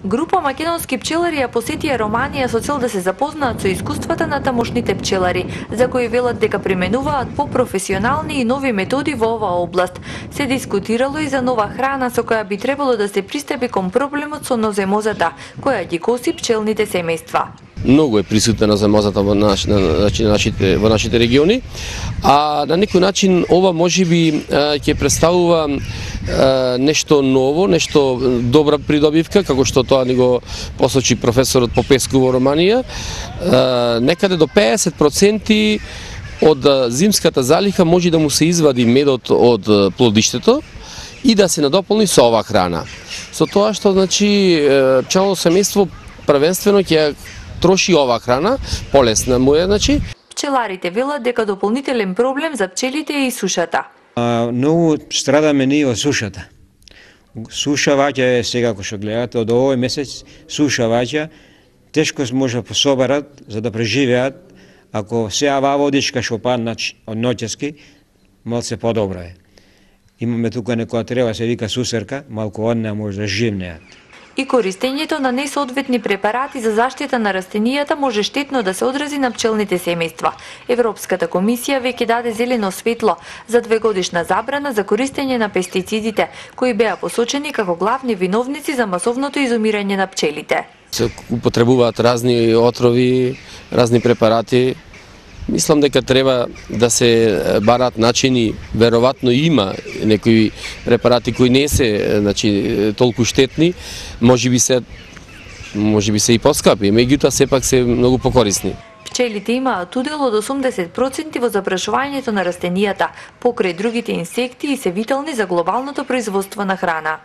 Група македонски пчелари ја посетија Романија со цел да се запознаат со искуствата на тамошните пчелари, за кои велат дека применуваат попрофесионални и нови методи во оваа област. Се дискутирало и за нова храна со која би требало да се пристапи кон проблемот со ноземозата, која ги коси пчелните семејства. Многу е присутна ноземозата во нашите региони, а на некој начин ова можеби ќе представува нешто ново, нешто добра придобивка, како што тоа ни го посочи професорот Попеску во Романија. Некаде до 50% од зимската залиха може да му се извади медот од плодиштето и да се надополни со оваа храна. Со тоа што значи пчелното семејство првенствено ќе троши оваа храна, полесна му е, значи. Пчеларите велат дека дополнителен проблем за пчелите е и сушата. Многу страдаме ние од сушата. Суша ваѓа сега, ако што гледате, од овој месец суша ваѓа, тешко може да пособарат за да преживеат, ако сега ова водичка што падна од ноќески, малце подобро е. Имаме тука некоја треба се вика сусерка, малку од неа може да живнеат. И користењето на несоодветни препарати за заштита на растенијата може штетно да се одрази на пчелните семејства. Европската комисија веќе даде зелено светло за 2-годишна забрана за користење на пестицидите, кои беа посочени како главни виновници за масовното изумирање на пчелите. Се употребуваат разни отрови, разни препарати. Мислам дека треба да се бараат начини, веројатно има некои препарати кои не се, значи, толку штетни, можеби се и поскапи, меѓутоа сепак се многу покорисни. Пчелите имаат удел од 80% во запрашувањето на растенијата, покрај другите инсекти и се витални за глобалното производство на храна.